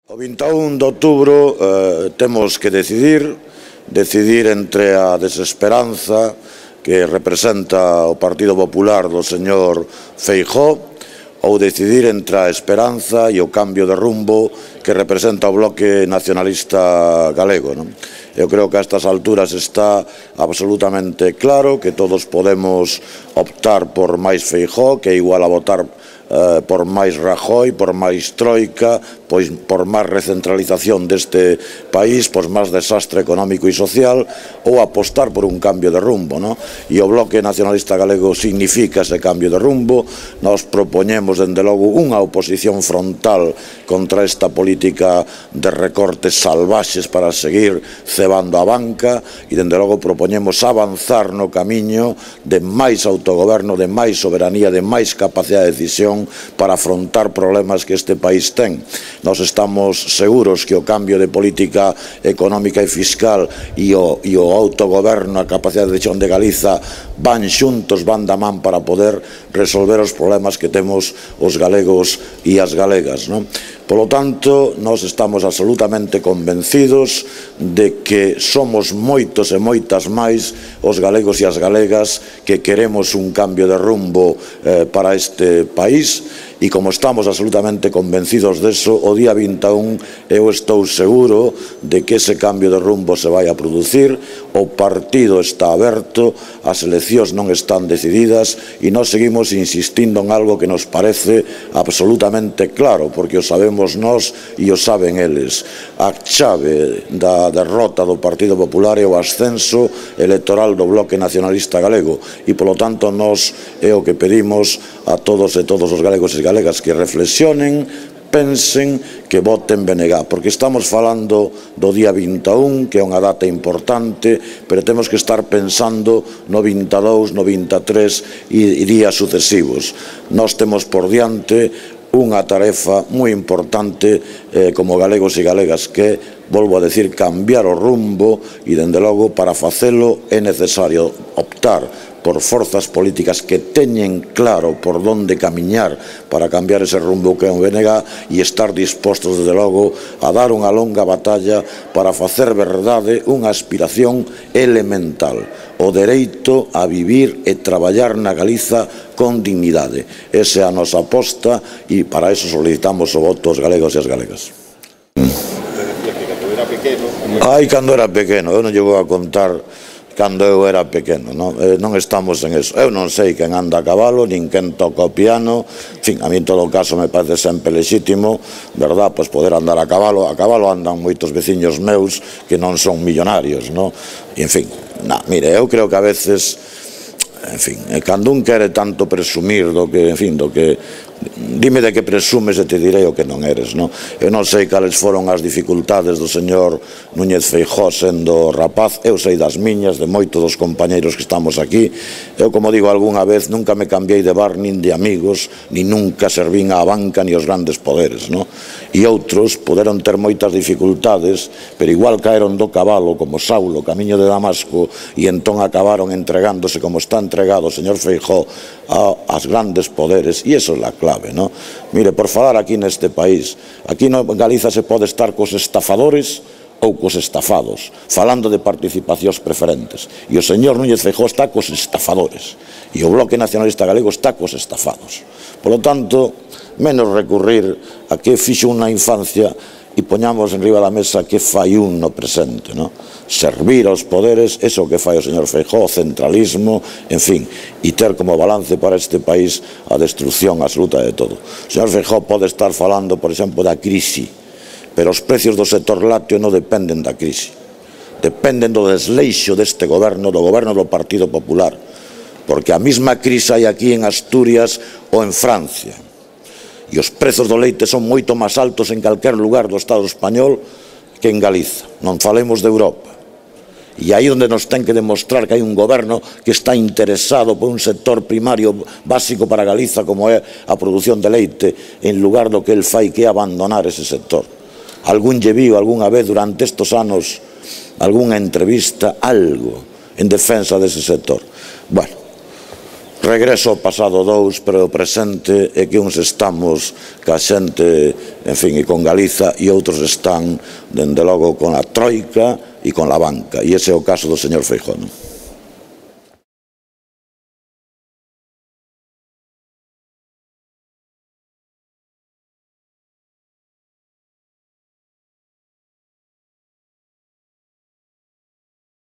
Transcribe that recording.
O 21 de outubro temos que decidir entre a desesperanza que representa o Partido Popular do señor Feijóo ou decidir entre a esperanza e o cambio de rumbo que representa o Bloque Nacionalista Galego. Eu creo que a estas alturas está absolutamente claro que todos podemos optar por máis Feijóo, que é igual a votar por máis Rajoy, por máis Troika, pois por máis recentralización deste país, por máis desastre económico e social, ou apostar por un cambio de rumbo, E o Bloque Nacionalista Galego significa ese cambio de rumbo. Nos propoñemos, dende logo, unha oposición frontal contra esta política de recortes salvaxes para seguir cebando a banca e, dende logo, propoñemos avanzar no camiño de máis autogoberno, de máis soberanía, de máis capacidade de decisión para afrontar problemas que este país ten. Nós estamos seguros que o cambio de política económica e fiscal e o autogoberno, a capacidade de decisión de Galiza van xuntos, van da man para poder resolver os problemas que temos os galegos e as galegas. Polo tanto, nós estamos absolutamente convencidos de que somos moitos e moitas máis os galegos e as galegas que queremos un cambio de rumbo para este país. E como estamos absolutamente convencidos deso, o día 21 eu estou seguro de que ese cambio de rumbo se vai a producir. O partido está aberto, as eleccións non están decididas e nós seguimos insistindo en algo que nos parece absolutamente claro, porque o sabemos nós e o saben eles. A chave da derrota do Partido Popular é o ascenso electoral do Bloque Nacionalista Galego e, polo tanto, nós é o que pedimos a todos e todos os galegos e galegas que reflexionen, pensen, que voten BNG, porque estamos falando do día 21, que é unha data importante, pero temos que estar pensando no 22, no 23 e días sucesivos. Nós temos por diante unha tarefa moi importante como galegos e galegas, que, volvo a decir, cambiar o rumbo e, dende logo, para facelo é necesario optar por forzas políticas que teñen claro por onde camiñar para cambiar ese rumbo que é o BNG e estar dispostos, desde logo, a dar unha longa batalla para facer verdade unha aspiración elemental: o dereito a vivir e traballar na Galiza con dignidade. Esa é a nosa aposta e para eso solicitamos o voto aos galegos e as galegas. Cando era pequeno, eu non llevo a contar cando eu era pequeno, non estamos en eso. Eu non sei quen anda a cabalo, nin quen toca o piano, en fin, a mí en todo caso me parece sempre lexítimo, verdad, pois poder andar a cabalo andan moitos veciños meus que non son millonarios, e en fin, mire, eu creo que a veces, en fin, cando un quere tanto presumir do que, en fin, do que dime de que presumes e te direi o que non eres. Eu non sei cales foron as dificultades do señor Núñez Feijóo sendo rapaz, eu sei das miñas, de moitos dos compañeiros que estamos aquí. Eu, como digo algunha vez, nunca me cambiei de bar nin de amigos, nin nunca servín á banca ni aos grandes poderes. E outros poderon ter moitas dificultades, pero igual caeron do cabalo, como Saulo, camiño de Damasco, e entón acabaron entregándose, como está entregado o señor Feijóo, aos grandes poderes, e iso é a clave. Mire, por falar aquí neste país, aquí en Galiza se pode estar cos estafadores ou cos estafados, falando de participacións preferentes, e o señor Núñez Feijóo está cos estafadores e o Bloque Nacionalista Galego está cos estafados. Polo tanto, menos recurrir a que fixo unha infancia e poñamos enriba da mesa que fai un no presente. Servir aos poderes, eso que fai o señor Feijóo, o centralismo, en fin, e ter como balance para este país a destrucción absoluta de todo. O señor Feijóo pode estar falando, por exemplo, da crise, pero os precios do sector lácteo non dependen da crise, dependen do desleixo deste goberno, do goberno do Partido Popular, porque a mesma crise hai aquí en Asturias ou en Francia. E os prezos do leite son moito máis altos en calquer lugar do Estado español que en Galiza, non falemos de Europa. E aí onde nos ten que demostrar que hai un goberno que está interesado por un sector primario básico para Galiza, como é a produción de leite, en lugar do que el fai, que é abandonar ese sector. Algún lle viu algunha vez durante estes anos algunha entrevista, algo en defensa dese sector? Bueno, regreso ao pasado 2, pero o presente é que uns estamos ca xente en fin, e con Galiza, e outros están, dende logo, con a troika e con a banca, e ese é o caso do señor Feijóo.